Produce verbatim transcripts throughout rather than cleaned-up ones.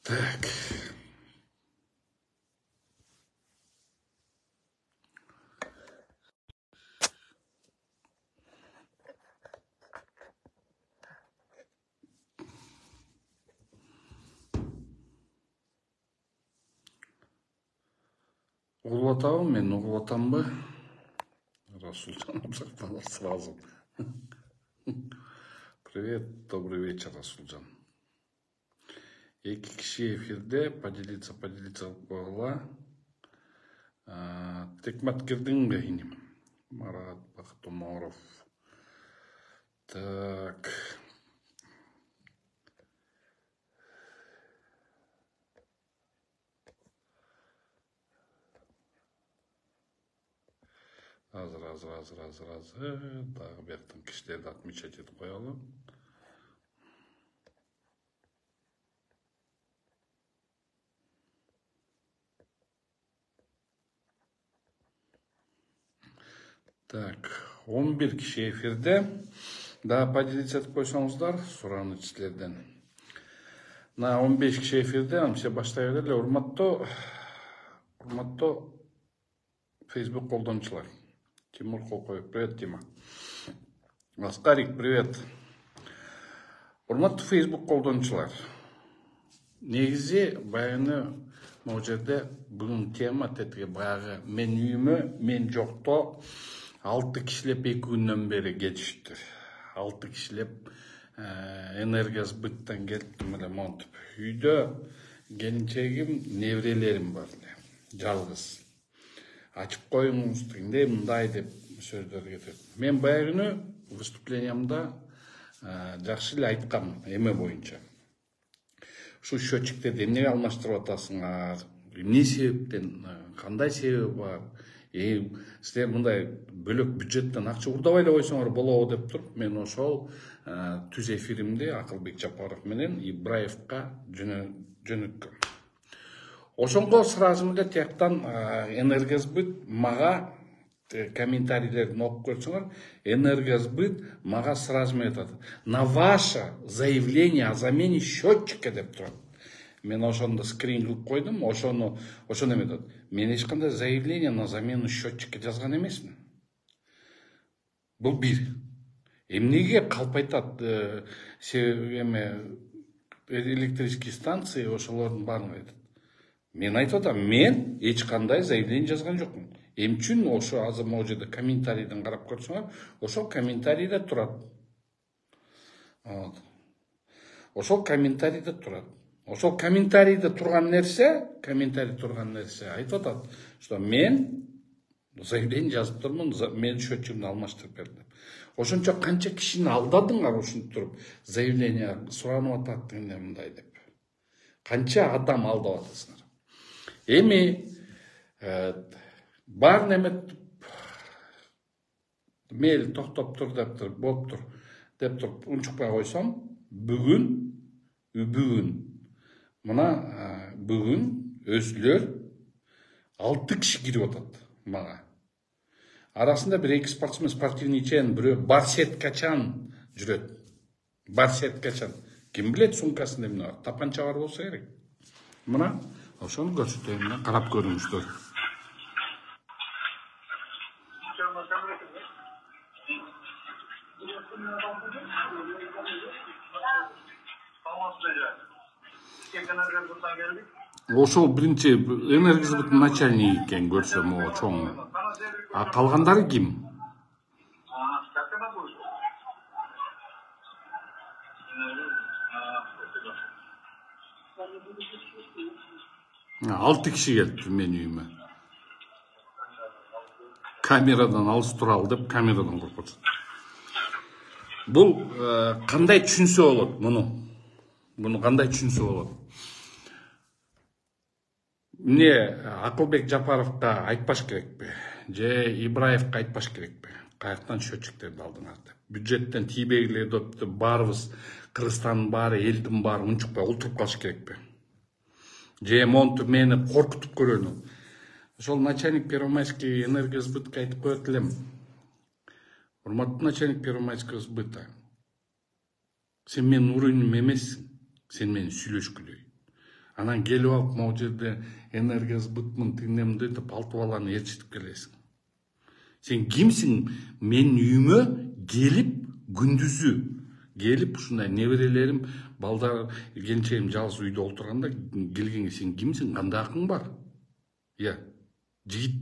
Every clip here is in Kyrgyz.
Так. Угулуп атабы, мен угулуп атамбы? Расулжан Абзакталов сразу. Привет, добрый вечер, Расулжан. Эки киши эфирде поделиться, поделиться кылып койгула. Текмат кирдиңби иним? Марат Бактумаров. Так. Азыр, азыр, азыр, азыр, азыр. Дагы бияктан кишилерди отмечать этип коелу. Так, он бир киши эфирде. Да, поделиться этип койсоңуздар, сураны силерден. На он беш киши эфирде, амсе баштай берели. Урматтуу, урматтуу Facebook колдончулар. Тимур Колкоев, привет, Тима. Аскарик, привет. Урматтуу Facebook колдончулар. Негизи баягы могу жерде бүгүн тема тетиги баягы мен үйүмө, мен жокто алты кишилеп эки күндөн бери кетиштир. алты кишилеп энергосбыттан келиптим эле монтип. Үйдө келинчегим, неберелерим бар эле. Жалгыз. Ачып коюңуз дегенде мындай деп сөздөр кетет. Мен баягы күнү выступлениямда жакшы эле айткам эме боюнча. Ушу счетчиктерди эмнеге алмаштырып атасыңар? Эмне себептен, кандай себеби бар? Э, силер мындай бөлөк бюджеттен акча урдабай эле койсоңор болобу деп туруп, мен ошол түз эфиримди Акылбек Жапаров менен Ибраевка жөнөткөм. Ошонго сразу эле тияктан энергосбыт мага комментарийлерин окуп көрсөңөр, энергосбыт мага сразу айтат: на ваше заявление о замене счетчика деп турат. Мен ошондо скрин кылып койдум, ошону ошону эметет. Мен эч кандай заявление на замену счетчика жазган эмесмин. Бул бир. Эмнеге калп айтат эме электрический станции ошолордун баарын айтат. Мен айтып атам, мен эч кандай заявление жазган жокмун. Эмне үчүн ошо азыр могу жерде комментарийден карап көрсөңөр, ошол комментарийде турат. Ошол комментарийде турат. Ошол комментарийде турган нерсе, комментарий турган нерсе айтып атат, что мен заявление жазып турмун, мен счетчигимди алмаштырып бердим. Ошончо канча кишини алдадыңар ушинтип туруп, заявление суранып атат дегенде мындай деп. Канча адам алдап атасыңар. Эми бар немет мейли токтоп тур деп туруп, болуптур деп туруп унчукпай койсом, бүгүн бүгүн мына бүгүн өзүлөр алты киши кирип атат мага. Арасында бир эки спортсмен, спортивный чен, бирөө барсеткачан жүрөт. Барсеткачан. Ким билет сумкасында эмне бар? Тапанча бар болсо керек. Мына ошону көрсөтөйүн, карап көрүңүздөр. Ошол биринчи энергосбыттын начальниги экен көрсөм, о чоң. А калгандары ким? Алты киши келипти менин үйүмө. Камерадан алыс туралы деп камерадан коркутат. Бул кандай түшүнсө болот муну? Муну кандай түшүнсө болот? Эмне Акылбек Жапаровго айтпаш керекпи? Же Ибраевка айтпаш керекпи? Каяктан счетчиктерди алдыңар деп. Бюджеттен тийбегиле деп баарыбыз Кыргызстандын баары, элдин баары унчукпай олтуруп калыш керекпи? Же монтуп мени коркутуп көрөнү? Ошол начальник Первомайский энергосбытка айтып коет элем. Урматтуу начальник Первомайского сбыта. Сен менин уровнем эмессиң. Сен менен сүйлөшкүлөй. Анан келип алып могу жерде энергия сбытмын тигинен деп алты баланы ээрчитип келесиң. Сен кимсиң? Менин үйүмө келип күндүзү келип ушундай неберелерим, балдар, келинчегим жалгыз үйдө отурганда келгенге сен кимсиң? Кандай акың бар? Иә, жигит.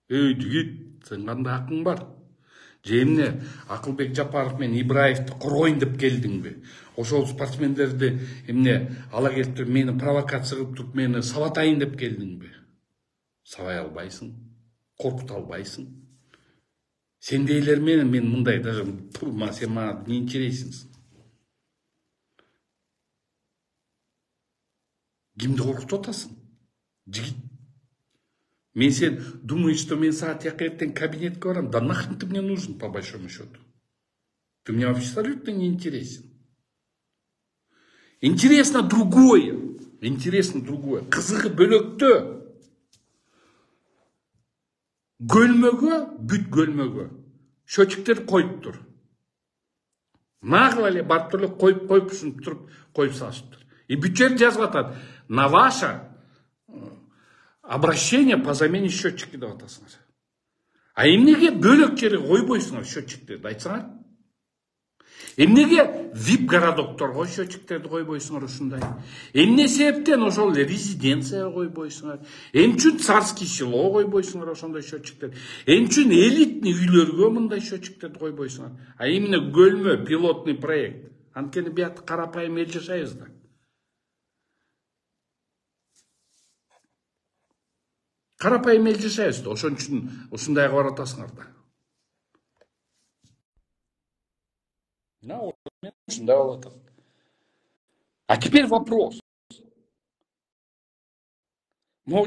Эй, жигит, сен кандай акың бар? Же эмне Акылбек Жапаров менен Ибраевди коргойн деп келдиңби? Ошол спортсмендерди эмне ала келип туруп мени провокация кылып туруп мени сабатайын деп келдиңби? Сабай албайсың, коркута албайсың. Сендейлер менен мен мындай даже турма, сен мага не интересиңсиң? Кимди коркутуп атасың? Жигит. Мен сен думаешь, что мен саат жака эртең кабинетке барам? Да нахрен ты мне нужен, по большому счету? Ты мне абсолютно не интересен. Интересно другое. Интересно другое. Кызыгы бөлөктө. Көлмөгө, бүт көлмөгө счетчиктер коюп тур. Нагыл эле барып эле коюп коюп ушинтип туруп коюп салышыптыр. И бүт жер жазып атат. На ваше обращение по замене счетчика деп атасыңар. А эмнеге бөлөк жерге койбойсуңар счетчиктерди айтсаңар? Эмнеге вип городокторго счетчиктерди койбойсуңар ушундай? Эмне себептен ошол резиденцияга койбойсуңар? Эмне үчүн царский село койбойсуңар ошондой счетчиктер? Эмне үчүн элитный үйлөргө мындай счетчиктерди койбойсуңар? А именно көлмө пилотный проект. Анткени биякта карапайым эл жашайбыз да. Карапайым эл жашайбыз да, ошон үчүн ушундайга барып атасыңар да. На, ушундай болуп атат. А теперь вопрос. Могу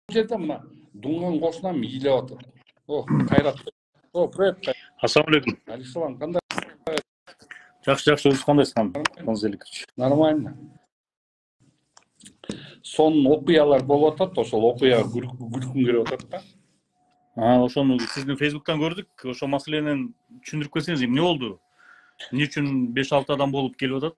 жерде мына дунган кошунам ийлеп атат. О, Кайрат. О, привет. Ассаламу алейкум. Алейкум, кандай? Жакшы, жакшы, өзү кандайсың? Конзеликович. Нормально. Сон окуялар болуп атат, ошол окуяга күлкүм келип атат да. А, ошону сиздин Фейсбуктан көрдүк. Ошол маселени түшүндүрүп кетсеңиз, эмне болду? Эмне үчүн беш алты адам болуп келип атат?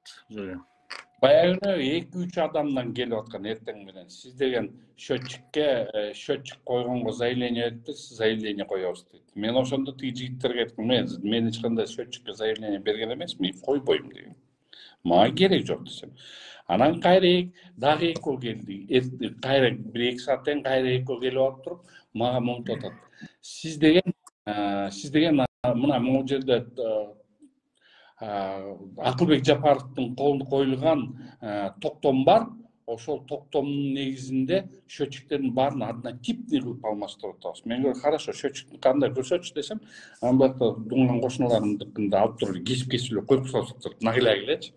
Баягы эки үч адамдан келип аткан эртең менен. Сиз деген счетчикке счетчик койгонго заявление бериптиз, заявление коебуз дейт. Мен ошондо тиги жигиттерге айттым, мен мен эч кандай счетчикке заявление берген эмесмин, койбойм дегем. Мага керек жок десем. Анан кайра дагы экөө келди. Кайра бир эки сааттан кайра экөө келип алып туруп, мага монтип атат. Сиз деген, сиз деген мына могу жерде Акылбек Жапаровдун колуна коюлган токтом бар. Ошол токтомдун негизинде счетчиктердин баарын однотипный кылып алмаштырып атабыз. Мен говорю, хорошо, счетчикти кандай көрсөтчү десем, анан бакта дунган кошуналарымдыкында алып туруп кесип-кесип эле коюп салышып нагыла элечи.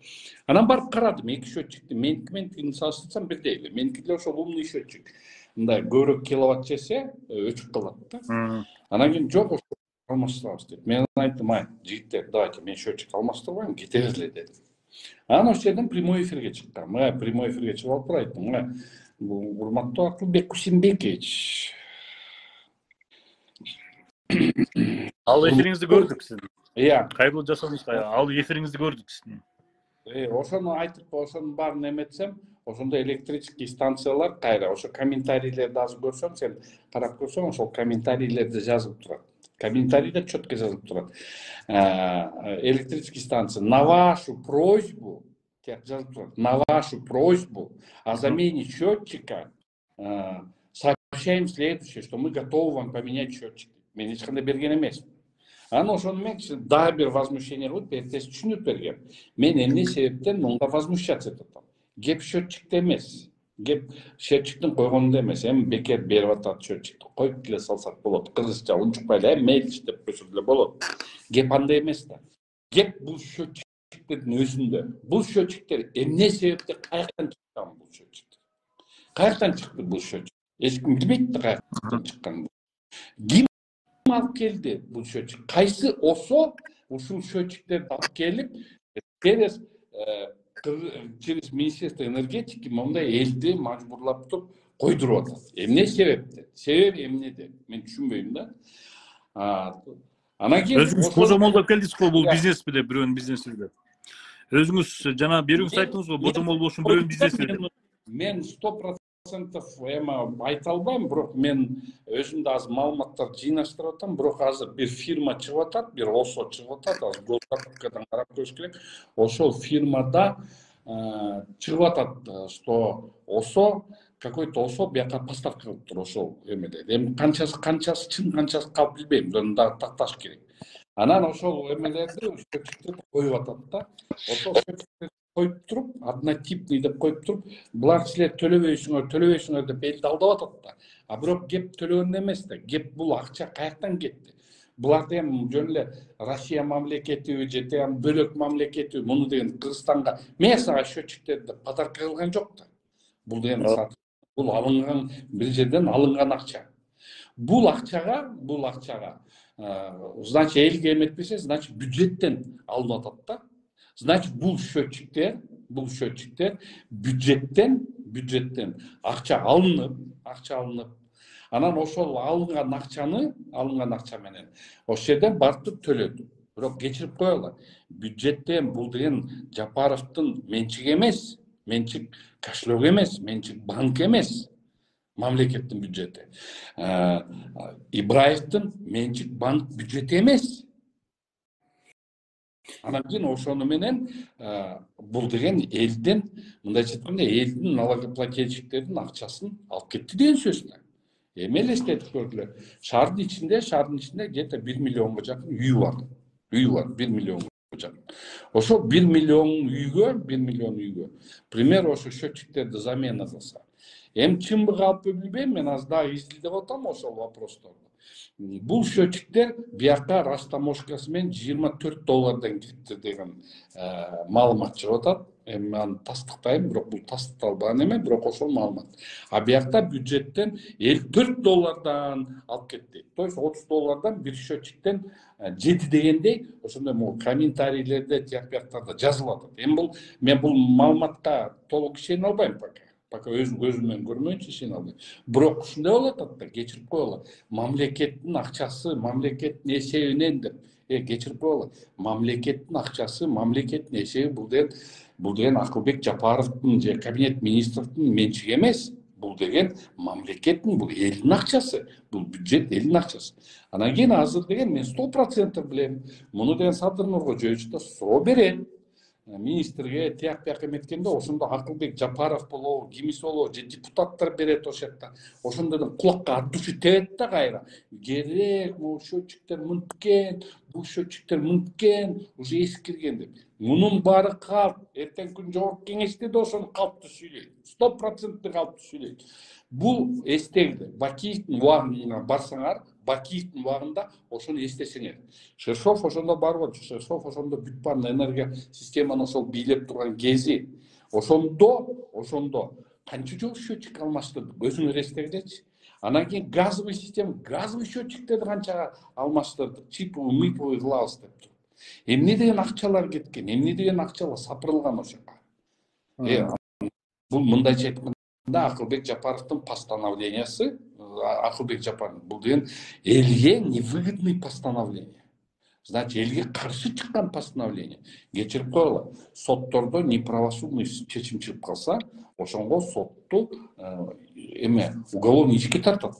Анан барып карадым, эки счетчикти меники менен тигини салыштырсам бирдей эле. Меники деле ошол умный счетчик. Мындай көбүрөөк киловатт жесе өчүп калат да. Анан кийин жок, алмаштырабыз деп. Мен айттым, ай, жигиттер, давайте мен счетчик алмаштырбайм, кетебиз эле дедим. Анан ошол жерден прямой эфирге чыккан. Мына прямой эфирге чыгып алып айттым, мына урматтуу Акылбек Кусимбекович. Ал эфириңизди көрдүк сиздин. Иә. Кайрылуу жасадыңыз, ал эфириңизди көрдүк сиздин. Э, ошону айтып, ошонун баарын эметсем, ошондо электрический станциялар кайра, ошо комментарийлерди азыр көрсөң, сен карап көрсөң, ошол комментарийлерде жазылып турат. Комментарийде четко жазылып турат. Электрический станция на вашу просьбу, жазылып турат, на вашу просьбу о замене счетчика сообщаем следующее, что мы готовы вам поменять счетчик. Мен эч кандай берген эмесмин. Анан ошону мен дагы бир возмущение кылып, эртеси түшүнүп бергем. Мен эмне себептен мынга возмущаться этип атам. Кеп счетчикте эмес. Кеп счетчиктин койгонунда эмес. Эми бекер берип атат счетчикти. Коюп деле салсак болот. Кыргызча унчукпай эле мейл иштеп койсо деле болот. Кеп андай эмес да. Кеп бул счетчиктердин өзүндө. Бул счетчиктер эмне себептен каяктан чыккан бул счетчиктер? Каяктан чыкты бул счетчик? Эч ким билбейт да каяктан чыкканын. Ким алып келди бул счетчик? Кайсы осо ушул счетчиктерди алып келип, через через Министерство энергетики мындай элди мажбурлап туруп койдуруп атат. Эмне себептен? Себеби эмнеде? Мен түшүнбөйм да. Анан кийин өзүңүз божомолдоп келдиңиз го, бул бизнесби деп, бирөөнүн бизнеси деп. Өзүңүз жана берүүңүз айттыңыз го, божомол болушун бирөөнүн бизнеси деп. мен сто процентов эми айта албайм, бирок мен өзүм да азыр маалыматтар жыйнаштырып атам. Бирок азыр бир фирма чыгып атат, бир ОСО чыгып атат, азыр госзакупкадан карап көрүш керек. Ошол фирмада чыгып атат, что ОСО какой-то ОСО бияка поставка кылып тур ошол эмеде. Эми канчасы канчасы чын, канчасы калп билбейм, муну дагы такташ керек. Анан ошол эмелерди счетчиктерди коюп атат да. Ошол счетчиктерди коюп туруп, однотипный деп коюп туруп, булар силер төлөбөйсүңөр, төлөбөйсүңөр деп элди алдап атат да. А бирок кеп төлөгөн эмес да. Кеп бул акча каяктан кетти? Буларды эми жөн эле Россия мамлекетиби же тегин бөлөк мамлекетиби муну деген Кыргызстанга мен сага счетчиктерди подарка кылган жок да. Бул деген бул алынган бир жерден алынган акча. Бул акчага, бул акчага значит элге эметпесе, значит бюджеттен алынып атат да. Значит бул счетчиктер, бул счетчиктер бюджеттен, бюджеттен акча алынып, акча алынып, анан ошол алынган акчаны, алынган акча менен ошол жерден барып төлөдү. Бирок кечирип коелу. Бюджеттен бул деген Жапаровдун менчиги эмес, менчик кошелек эмес, менчик банк эмес. Мамлекеттин бюджети. Ибраевдин менчик банк бюджети эмес. Анан кийин ошону менен бул деген элдин, мындайча айтканда, элдин налогоплательщиктердин акчасын алып кетти деген сөз да. Эми элестетип көргүлө. Шаардын ичинде, шаардын ичинде где-то бир миллионго жакын үй бар. Үй бар, бир миллионго жакын. Ошол бир миллион үйгө, бир миллион үйгө, пример ошо счетчиктерди замена кылса. Эми чынбы калппы билбейм, мен аз дагы изилдеп атам ошол вопросторду. Бул счетчиктер бияка растаможкасы менен жыйырма төрт доллардан кириптир деген маалымат чыгып атат. Эми аны тастыктайм, бирок бул тастыкталбаган эме, бирок ошол маалымат. А биякта бюджеттен элүү төрт доллардан алып кетти. То есть отуз доллардан бир счетчиктен жети дегендей, ошондой могу комментарийлерде, тияк бияктарда жазылып атат. Эми бул мен бул маалыматка толук ишене албайм пока. Пока өзүм көзүм менен көрмөйүнчө ишене албайм. Бирок ушундай болуп атат да, кечирип коелу. Мамлекеттин акчасы мамлекеттин эсебинен деп, э кечирип коелу. Мамлекеттин акчасы мамлекеттин эсеби, бул деген бул деген Акылбек Жапаровдун же кабинет министрдин менчиги эмес. Бул деген мамлекеттин, бул элдин акчасы, бул бюджет элдин акчасы. Анан кийин азыр деген мен сто процентов билем. Муну деген Садыр Нуркожоевич да суроо берет. Министрге тияк бияк эметкенде ошондо Акылбек Жапаров болобу, кимиси болобу, же депутаттар берет ошол жакта. Ошондордон кулакка от души тебет да кайра. Керек, могу счетчиктер мынткен, бул счетчиктер мынткен, уже эскирген деп. Мунун баары калп. Эртең күн жогорку кеңеште да ошону калпты сүйлөйт. сто процент калпты сүйлөйт. Бул эстегиле. Бакиевдин убагына барсаңар, Бакиевдин убагында ошону эстесеңер. Шершов ошондо бар болчу. Шершов ошондо бүт парный энергия системаны ошол бийлеп турган кези. Ошондо, ошондо канча жолу счетчик алмаштырдык, өзүңөр эстегилечи. Анан кийин газовый система, газовый счетчиктерди канча алмаштырдык, чиповый, миповый кылабыз деп туруп. Эмне деген акчалар кеткен, эмне деген акчалар сапырылган ошоко. Э, бул мындайча айтканда Акылбек Жапаровдун постановлениясы, Акылбек Жапаров бул деген элге невыгодный постановление. Значит, элге каршы чыккан постановление. Кечирип коелу. Соттордо неправосудный чечим чыгып калса, ошонго сотту эме уголовный ишке тартат.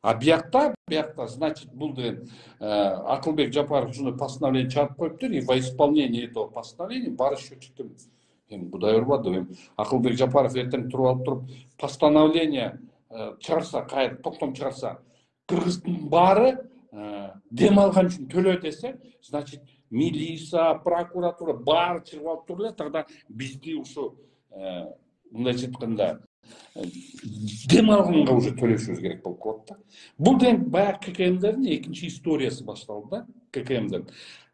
А биякта, биякта, значит, бул деген Акылбек Жапаров ушундай постановление чыгарып коюптур, и во исполнение этого постановления баары счетчиктер. Эми Кудай урбады, эми Акылбек Жапаров эртең туруп алып туруп постановление чыгарса, кайра токтом чыгарса, кыргыздын баары дем алган үчүн төлөө десе, значит, милиция, прокуратура баары чыгып алып туруп эле, тогда бизди ушу мындайча айтканда дем алганга уже төлөшүбүз керек болуп калат да. Бул деген баягы ККМдердин экинчи историясы башталды да, ККМден.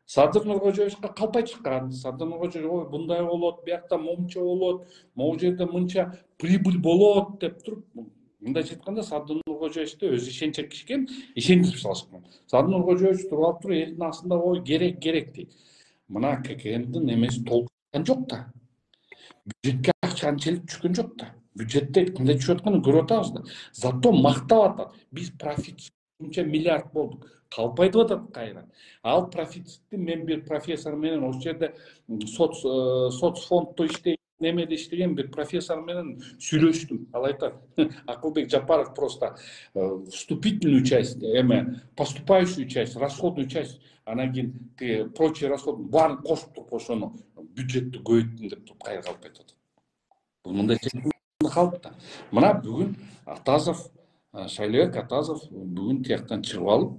Садыр Нуркожоевичке калпай чыккан. Садыр Нуркожоевич ой мындай болот, биякта момчо болот, могу жерде мынча прибыль болот деп туруп, мындайча айтканда Садыр Нуркожоевичти өзү ишенчек киши экен, ишендирип салышкан. Садыр Нуркожоевич туруп алып туруп элдин астында ой керек керек дейт. Мына ККМдин эмеси толук жок да. Бюджетке акча анчалык түшкөн жок да. Бюджетте кандай түшүп атканын көрүп атабыз да. Зато мактап атат. Биз профит мынча миллиард болдук. Калпай деп атат кайра. Ал профицитти мен бир профессор менен ошол жерде соц соцфонддо иштейт, немеде иштеген бир профессор менен сүйлөштүм. Ал айтат, Акылбек Жапаров просто вступительную часть, эме поступающую часть, расходную часть, анан кийин тиги прочий расход баарын кошуп туруп ошону бюджетти көбөйттүм деп туруп кайра калып кетип атат. Бул мындай калып да. Мына бүгүн Атазов, Шайлебек Атазов бүгүн тияктан чыгып алып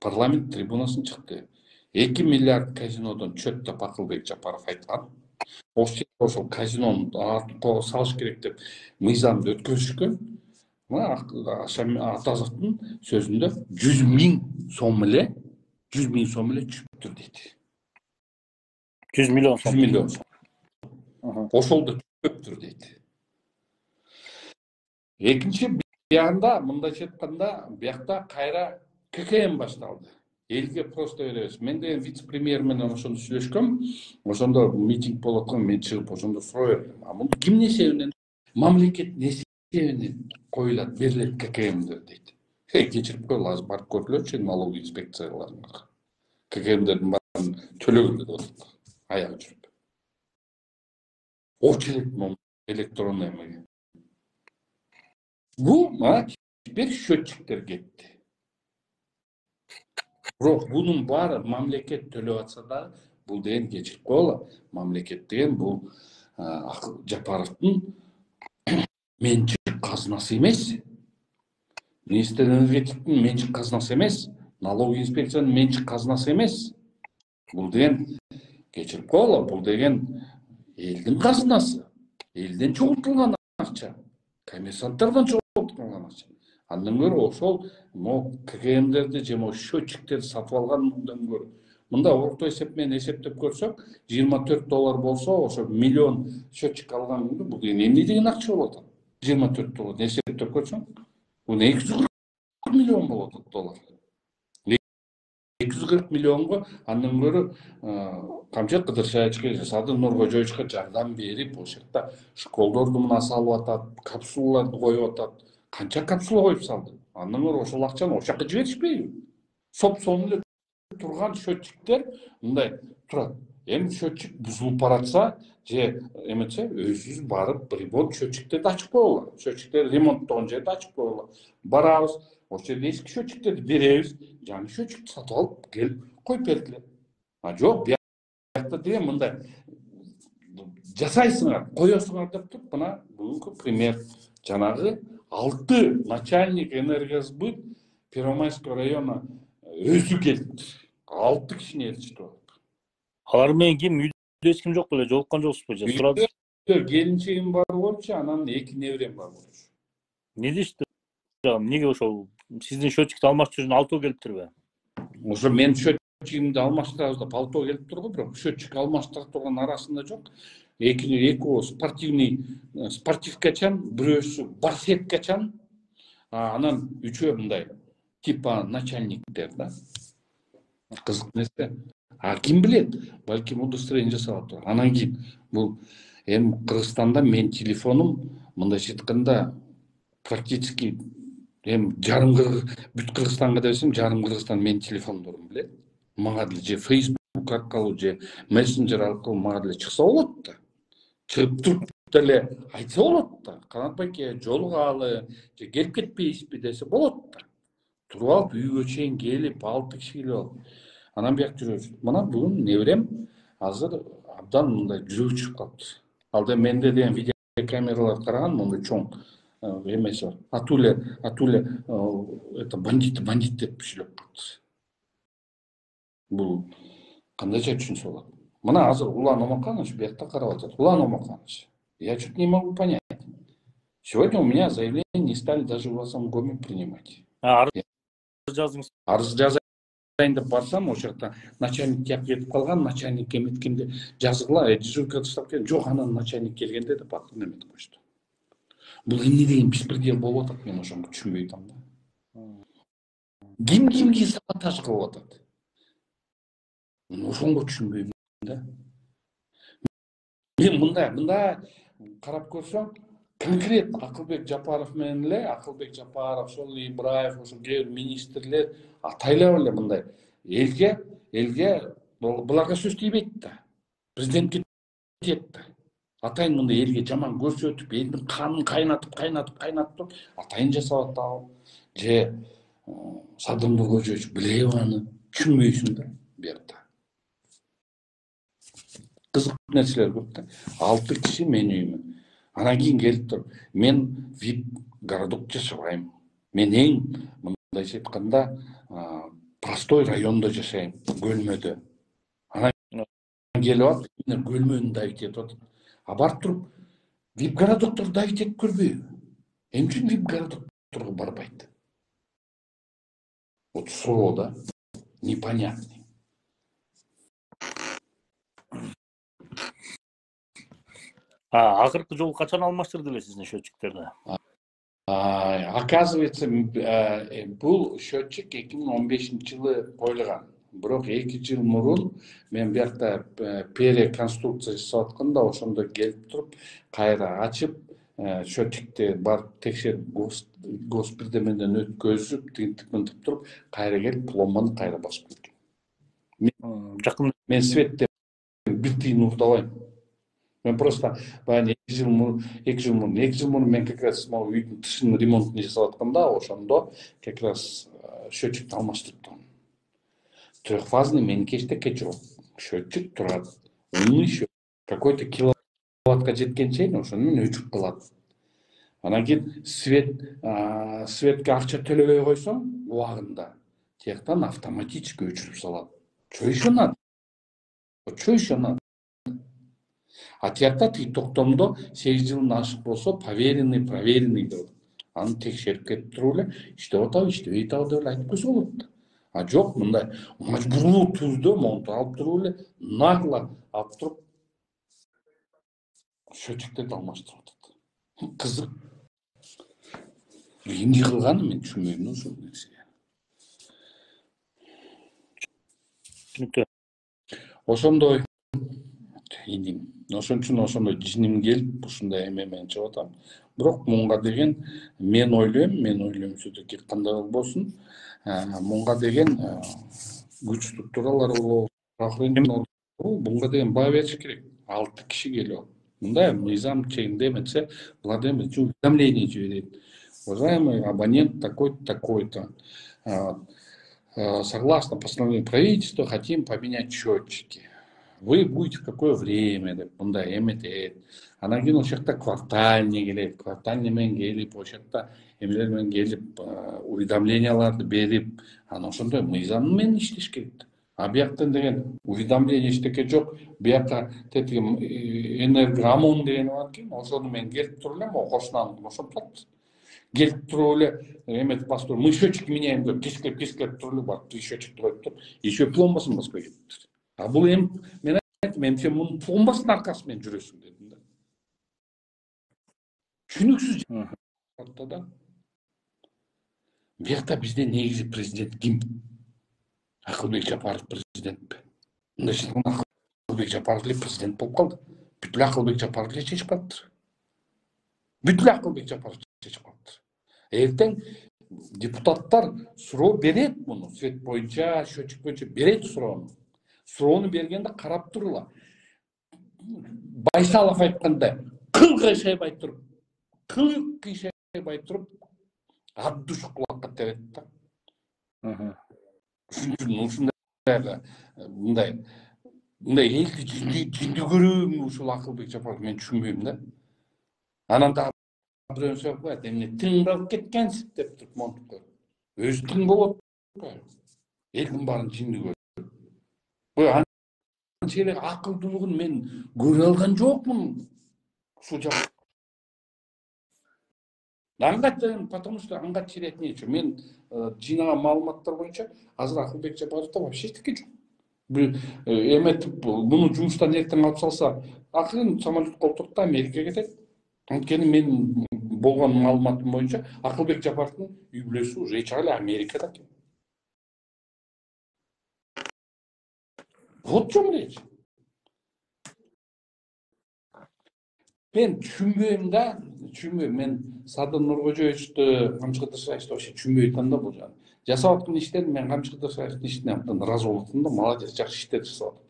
парламент трибунасына чыкты. эки миллиард казинодон чөп деп Акылбек Жапаров айткан. Ошол казинону артын салыш керек деп мыйзамды өткөрүшкөн. Мына Атазовдун сөзүндө жүз миң сом эле, жүз миң сом эле чүптүр дейт. жүз миллион сом. жүз миллион сом. Ошол да чөптүр дейт. Экинчи биягында, мындайча айтканда, биякта кайра ККМ башталды. Элге просто беребиз. Мен деген вице-премьер менен ошондо сүйлөшкөм. Ошондо митинг болуп аткан, мен чыгып ошондо суроо бердим. А муну ким эсебинен, мамлекет эсебинен коюлат, берилет ККМдер дейт. Кечирип койгула, азыр барып көргүлөчү налоговый инспекцияларга. ККМдердин баарын төлөгөн деп атат. Аягы жүрүп. Очередь электронный эмеге. Бул мына теперь счетчиктер кетти. Бирок бунун баары мамлекет төлөп атса да, бул деген кечирип койгула, мамлекет деген бул Жапаровдун менчик казынасы эмес. Министр энергетиктин менчик казынасы эмес, налоговый инспекциянын менчик казынасы эмес. Бул деген кечирип койгула, бул деген элдин казынасы. Элден чогултулган акча. Коммерсанттардан чогултулган акча. Андан көрө ошол могу ККМдерди же могу счетчиктерди сатып алгандан көрө мында орто эсеп менен эсептеп көрсөк, жыйырма төрт доллар болсо, ошо миллион счетчик алган күндө бул эмне деген акча болот атат? жыйырма төрт доллар эсептеп көрсөң, бул эки жүз кырк миллион болот атат доллар. эки жүз кырк миллионго андан көрө камчы Кыдыршаевичке жасады, Нуркожоевичке жардам берип, ошол жакта школдорду мына салып атат, капсулаларды коюп атат. Канча капсула коюп салды? Андан көрө ошол акчаны ошол жака жиберишпейби? Соп-сонун эле турган счетчиктер мындай турат. Эми счетчик бузулуп баратса, же эметсе, өзүбүз барып ремонт счетчиктерди ачып койгула. Счетчиктер ремонттогон жерди ачып койгула. Барабыз, ошол жерде эски счетчиктерди беребиз, жаңы счетчикти сатып алып келип коюп бергиле. А жок, биякта деген мындай жасайсыңар, коесуңар деп туруп, мына бүгүнкү пример жанагы алты начальник энергосбыт Первомайский района өзү келди. алты кишини ээрчитип алып. Алар менен ким үйдө эч ким жок беле, жолуккан жоксузбу же? Сурады. Келинчегим бар болчу, анан эки неберем бар болчу. Не дешти? Эмнеге ошол сиздин счетчикти алмаштыруу үчүн алтоо келиптирби? Ошо мен счетчигимди алмаштырабыз деп алтоо келип тургу, бирок счетчик алмаштыра турган арасында жок. Эки экөө спортивный спортивкачан, бирөөсү барсеткачан, анан үчөө мындай типа начальниктер да. Кызык нерсе. А ким билет? Балким удостоверение жасап атат. Анан кийин бул эми Кыргызстанда мен телефонум мындайча айтканда практически эми жарым бүт Кыргызстанга десем, жарым Кыргызстан менин телефондорум билет. Мага деле же Facebook аркылуу же мессенджер аркылуу мага деле чыкса болот да. Чыгып туруп деле айтса болот да. Канат байке жолугалы же келип кетпейсизби десе болот да. Туруп алып үйгө чейин келип, алты киши келип алып. Анан бияк жүрөбүз. Мына бүгүн неберем азыр абдан мындай жүрөгү чыгып калды. Алда менде деген видеокамералар караган, мындай чоң эмеси бар. Атуле, атуле это бандит, бандит деп сүйлөп калды. Бул кандайча түшүнсө болот? Мына азыр Улан Омаканович биякта карап атат. Улан Омаканович, я что-то не могу понять. Сегодня у меня заявление не стали даже в Гласомкоме принимать. Арыз жаздыңыз. Арыз жазайын деп барсам, ошол жакта начальник кеп кетип калган, начальник эметкенде жазгыла, дежурка таштап келген. Жок, анан начальник келгенде деп атын эметип кошту. Бул эмне деген беспредел болуп атат, мен ошону түшүнбөй атам да. Ким кимге саботаж кылып атат? Ошонго түшүнбөйм да. Мен мындай, мындай карап көрсөм, конкретно Акылбек Жапаров менен эле, Акылбек Жапаров, Шол Ибраев, ошо кээ бир министрлер атайлап эле мындай элге, элге буларга сөз тийбейт да. Президентке тиет да. Атайын мындай элге жаман көрсөтүп, элдин канын кайнатып, кайнатып, кайнатып, атайын жасап атабы? Же Садыр Нуркожоевич билеби аны? Түшүнбөйсүң да бuyakta. Кызык нерселер көп да. Алты киши менин үйүмө. Анан кийин келип туруп, мен вип городок жашабайм. Мен эң мындайча айтканда простой райондо жашайм, Көлмөдө. Анан келип алып, мен Көлмөнү давить этип атат. А барып туруп, вип городокторду давить этип көрбөйбү? Эмне үчүн вип городокторго барбайт? Вот суроо да, непонятный. А акыркы жолу качан алмаштырды эле сиздин счетчиктерди? Оказывается, бул счетчик эки миң он бешинчи жылы коюлган. Бирок эки жыл мурун мен бuyakta переконструкция жасап атканда ошондо келип туруп, кайра ачып, счетчикти барып текшерип, госпирдемеден өткөзүп, тинтип мынтип туруп, кайра келип пломбаны кайра басып кеткен. Жакын мен светтен бир тыйын уктабайм. Мен просто баягы эки жыл мурун, эки жыл мурун, эки жыл мурун мен как раз могу үйдүн тышын ремонтун жасап атканда, ошондо как раз счетчикти алмаштырыптым. Трехфазный меники эчтеке жок. Счетчик турат. Умный счетчик. Какой-то киловаттка жеткен чейин ошону менен өчүп калат. Анан кийин свет, светке акча төлөбөй койсоң убагында, тияктан автоматически өчүрүп салат. Чо еще надо? Чо еще надо? А тиякта тиги токтомдо сегиз жылдан ашык болсо поверенный, проверенный деп. Аны текшерип кетип туруп эле иштеп атабы, иштебей атабы деп айтып койсо болот. А жок, мындай мажбурлуу түрдө монтуп алып туруп эле нагло алып туруп счетчиктерди алмаштырып атат. Кызык. Эмне кылганын мен түшүнбөйм ошол нерсени. Түшүнүктүү. Ошондой идим. Ошон үчүн ошондой жиним келип, ушундай эме менен чыгып атам. Бирок мунга деген мен ойлойм, мен ойлойм все-таки кандай болбосун, мунга деген күч структуралар болобу, мунга деген баа бериш керек. Алты киши келип, мындай мыйзам чегинде эметсе, булар деген уведомление жиберет. Уважаемый абонент такой-то, такой-то, согласно постановлению правительства, хотим поменять счетчики. Вы будете в какое время деп, мындай эметет. Анан кийин ошол жакта квартальный келет, квартальный менен келип, ошол жакта эмелер менен келип, уведомленияларды берип, анан ошондой мыйзам менен иштеш керек. А бияктан деген уведомление эчтеке жок. Биякка тетиги энергоамон деген бар экен, ошону мен келип туруп эле окошунан ошентет. Келип туруп эле эметип басып туруп, мы счетчики меняем деп, кескилеп кескилеп туруп эле барып счетчикти коюп туруп, еще пломбасын баспай кетиптир. А бул эми мен айттым, эми сен мунун пломбасынын аркасы менен жүрөсүң дедим да. Түшүнүксүз да. Биякта бизде негизи президент ким? Акылбек Жапаров президентпи? Мындай Акылбек Жапаров эле президент болуп калды. Бүт эле Акылбек Жапаров эле чечип калыптыр. Бүт эле Акылбек Жапаров чечип калыптыр. Эртең депутаттар суроо берет муну, свет боюнча, счетчик боюнча берет суроону. Суроону бергенде карап тургула. Байсалов айткандай, кыл кыйшайбай туруп, кыл кыйшайбай туруп, абдуш кулакка терет да. Ушундай мындай мындай элди жинди көрүүмү ушул Акылбек Жапаров, мен түшүнбөйм да. Анан дагы бирөө сөп коет, эмне тың калып кеткенсиз деп туруп монтуп коет. Өзү тың болот. Элдин баарын жинди көрөт. Анчалык акылдуулугун мен көрө алган жокмун ушул жак. Аңгат, потому что аңгат чиретин эче. Мен жыйнаган маалыматтар боюнча азыр Акылбек Жапаровдо вообще эчтеке жок. Бир эметип, муну жумуштан эртең алып салса, акырын самолетке отуруп Америкага кетет. Анткени менин болгон маалыматым боюнча Акылбек Жапаровдун үй бүлөсү уже чак эле Америкада экен. Вот в чем речь. Мен түшүнбөйм да, түшүнбөйм. Мен Садыр Нуркожоевичти, Камчы Кыдыршаевичти вообще түшүнбөй атам да бул жагын. Жасап аткан иштерин мен Камчы Кыдыршаевичтин ишине абдан ыраазы болуп атам да, молодец, жакшы иштер жасап атат.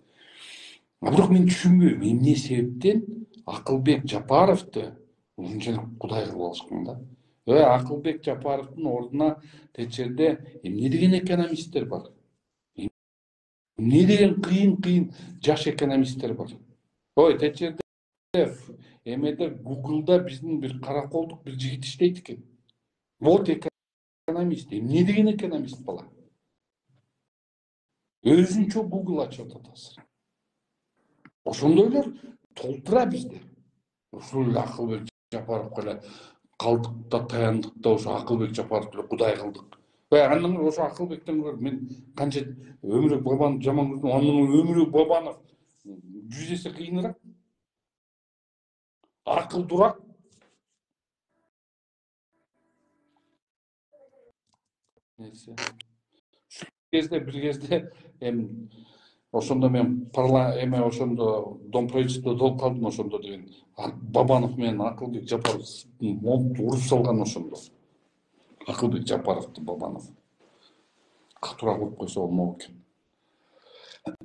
А бирок мен түшүнбөйм, эмне себептен Акылбек Жапаровду ушунчалык кудай кылып алышкан да. Ө Акылбек Жапаровдун ордуна течерде эмне деген экономисттер бар? Эмне деген кыйын кыйын жаш экономисттер бар? Ой, течерде эмеде Гуглда биздин бир караколдук бир жигит иштейт экен. Вот экономист. Эмне деген экономист бала? Өзүнчө Google ачып атат азыр. Ошондойлор толтура бизде. Ушул Акылбек Жапаровго эле калдык да таяндык да ошо Акылбек Жапаровду эле кудай кылдык. Ой, андан ошо Акылбектен көрүп мен канча Өмүрөк Бабанов жаман көрдүм, анын Өмүрөк Бабанов жүз эсе кыйыныраак. Акылдуураак. Нерсе. Ушул кезде бир кезде эми ошондо мен парла эме ошондо дом правительстводо болуп калдым ошондо деген. Бабанов менен Акылбек Жапаров уруп салган ошондо. Акылбек Жапаровду Бабанов катуураак уруп койсо болмок экен.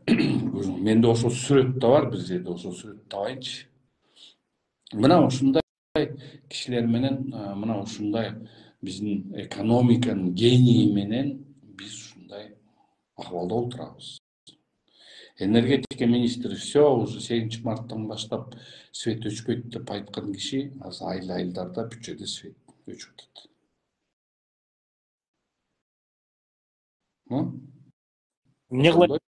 Менде ошол сүрөт да бар, бир жерде ошол сүрөттү табайынчы. Мына ушундай кишилер менен, мына ушундай биздин экономиканын гении менен биз ушундай акыбалда отурабыз. Энергетика министри все уже сегизинчи марттан баштап свет өчпөйт деп айткан киши азыр айыл айылдарда бүт жерде свет өчүп атат. Эмне кылат?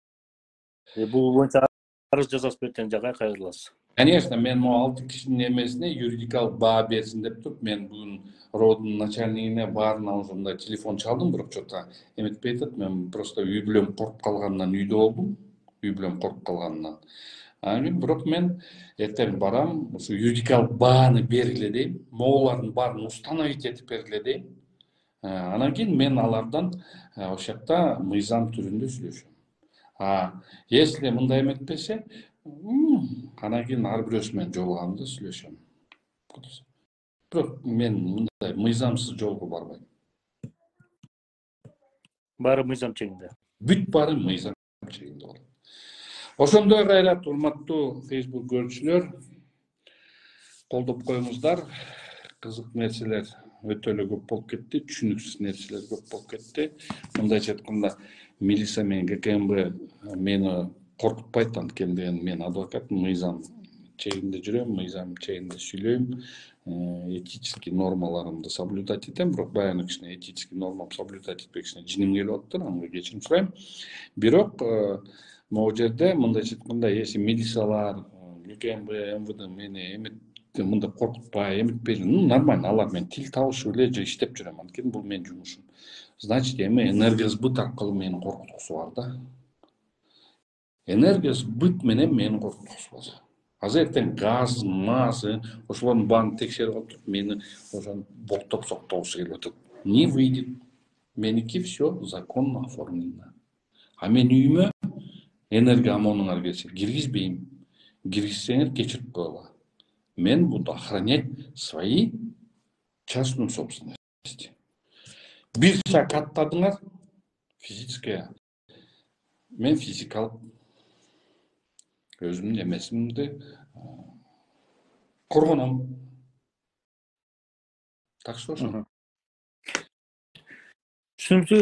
Бул боюнча арыз жазасыз бертең жагай кайрыласыз. Конечно, мен могу алты кишинин эмесине юридикалык баа берсин деп туруп, мен бүгүн роддун начальнигине баарына ошондой телефон чалдым, бирок чота эметпей атат. Мен просто үй бүлөм коруп калганынан үйдө болдум. Үй бүлөм коруп калганынан. Анан бирок мен эртең барам, ушу юридикалык бааны бергиле дейм. Могулардын баарын установить этип бергиле дейм. Анан кийин мен алардан ошол жакта мыйзам түрүндө сүйлөшөм. А если мындай эметпесе, анан кийин ар бирөөсү менен жолугамда сүйлөшөм. Бирок мен мындай мыйзамсыз жолго барбайм. Баары мыйзам чегинде. Бүт баары мыйзам чегинде болот. Ошондой кайрат, урматтуу Facebook көрүүчүлөр, колдоп коюңуздар. Кызык нерселер өтө эле көп болуп кетти, түшүнүксүз нерселер көп болуп кетти. Мындайча айтканда, милиция менен ГКМБ мени коркутпайт, анткени деген мен адвокат, мыйзам чегинде жүрөм, мыйзам чегинде сүйлөйм, этический нормаларымды соблюдать этем, бирок баягы кичине этический нормам соблюдать этпей кичине жиним келип атты, анга кечирим сурайм. Бирок могу жерде мындайча айтканда, если милициялар, ГКМБ, МВД мени эмет мындай коркутпай, эметпей, ну нормально, алар менен тил табышып эле же иштеп жүрөм, анткени бул менин жумушум. Значит, эми энергосбыт аркылуу мени коркуткусу бар да. Энергосбыт менен мени коркуткусу бар. Азыр эртең газ, маз, ошолордун баарын текшерип алып туруп, мени ошон болтоп соктогусу келип атат. Не выйдет. Меники все законно оформлено. А мен үйүмө энергоомонуңар келсе киргизбейм. Киргизсеңер кечирип коела. Мен буду охранять свои частную собственность. Бир шаг аттадыңар, физическая. Мен физикалык өзүмдүн эмесимди коргоном. Так что ошо. Түшүнүктүү,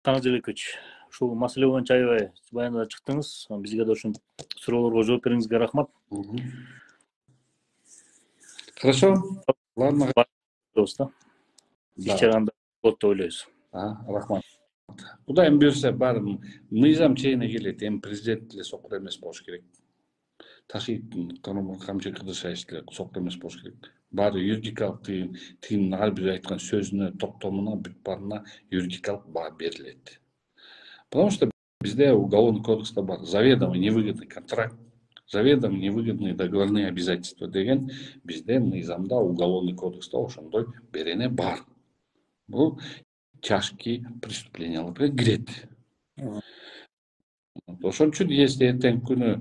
Канат Желекович. Ушул маселе боюнча аябай баяндап чыктыңыз. Бизге да ушул суроолорго жооп бериңизге рахмат. Хорошо. Ладно. Доста. Ишчаранда болот деп ойлойбуз. Рахмат. Кудайым буйрса баары мыйзам чегине келет. Эми президент эле сокур эмес болуш керек. Ташиевдин камчы кыдыршаевич эле сокур эмес болуш керек. Баары юридикалык тигинин ар бир айткан сөзүнө, токтомуна, бүт баарына юридикалык баа берилет. Потому что бизде уголовный кодекста бар заведомо невыгодный контракт, заведомо невыгодные договорные обязательства деген бизде мыйзамда уголовный кодекста ошондой берене бар. Бул тяжкие преступленияларга кирет. Ошон үчүн если эртең күнү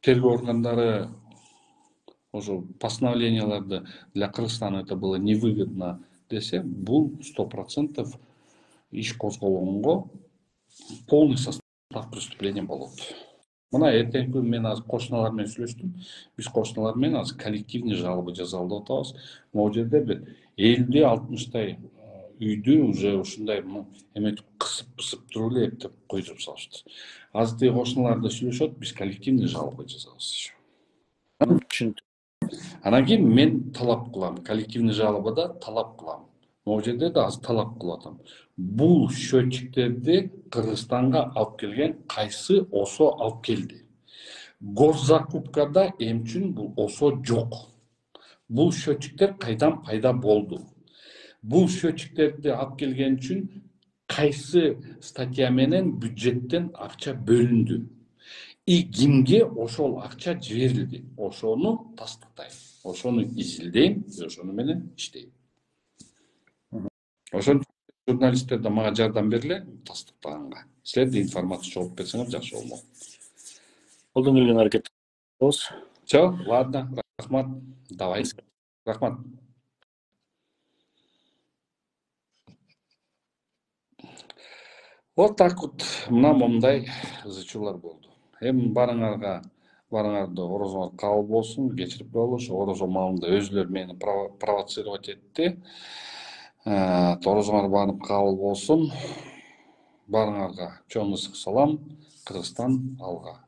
тергөө органдары ошо постановленияларды для Кыргызстана это было невыгодно десе, бул сто процентов иш козголгонго полный состав преступления болот. Мына эртеңки күнү мен азыр кошуналар менен сүйлөштүм. Биз кошуналар менен азыр коллективный жалоба жазалы деп атабыз. Могу жерде бир элүү алтымыштай үйдү уже ушундай эметип кысып-кысып туруп эле эптеп койдуруп салышты. Азыр тиги кошуналар да сүйлөшөт, биз коллективный жалоба жазабыз еще. Түшүнүктүү. Анан кийин мен талап кылам, коллективный жалобада талап кылам. Могу жерде да азыр талап кылып атам. Бул счетчиктерди Кыргызстанга алып келген кайсы ОСО алып келди? Госзакупкада эмчүн бул ОСО жок. Бул счетчиктер кайдан пайда болду? Бул счетчиктерди алып келген үчүн кайсы статья менен бюджеттен акча бөлүндү? И кимге ошол акча жиберилди? Ошону тастыктайм, ошону изилдейм, ошону менен иштейм. Ошон журналисттер да мага жардам бергиле тастыктаганга. Силер да информация чогултуп берсеңер жакшы болмок. Колдон келген аракет кылабыз. Всё, ладно, рахмат. Давай. Рахмат. Вот так вот, мына момундай ызы-чуулар болду. Эми барыңарга, барыңарды орозоңор кабыл болсун, кечирип коелу. Ошо орозо маалында өзүлөрү мени провоцировать этти. Орозоңор барып кабыл болсун. Барыңарга чоң ысык салам. Кыргызстан алга.